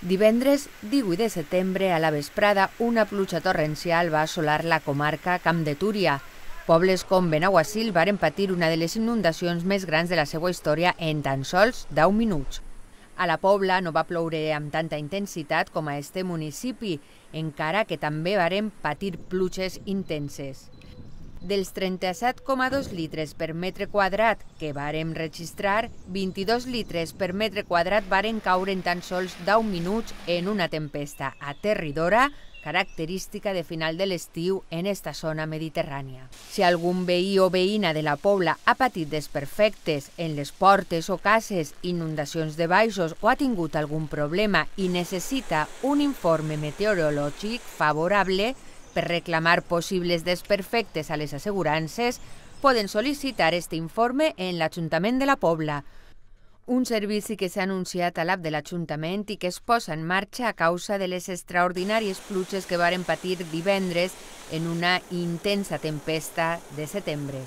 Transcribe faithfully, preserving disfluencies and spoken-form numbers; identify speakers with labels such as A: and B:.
A: Divendres divuit de setembre, a la vesprada, una pluja torrencial va assolar la comarca Camp de Túria. Pobles com Benaguasil varen patir una de les inundacions més grans de la seva història en tan sols deu minuts. A la Pobla no va ploure amb tanta intensitat com a este municipi, encara que també varen patir pluges intenses. Dels trenta-set coma dos litres per metre quadrat que vàrem registrar, vint-i-dos litres per metre quadrat varen caure en tan sols deu minuts en una tempesta aterridora, característica de final de l'estiu en esta zona mediterrània. Si algun veí o veïna de la Pobla ha patit desperfectes en les portes o cases, inundacions de baixos o ha tingut algun problema i necessita un informe meteorològic favorable per reclamar possibles desperfectes a les assegurances, poden sol·licitar aquest informe en l'Ajuntament de la Pobla, un servici que s'ha anunciat a l'app de l'Ajuntament i que es posa en marxa a causa de les extraordinàries pluges que varen patir divendres en una intensa tempesta de setembre.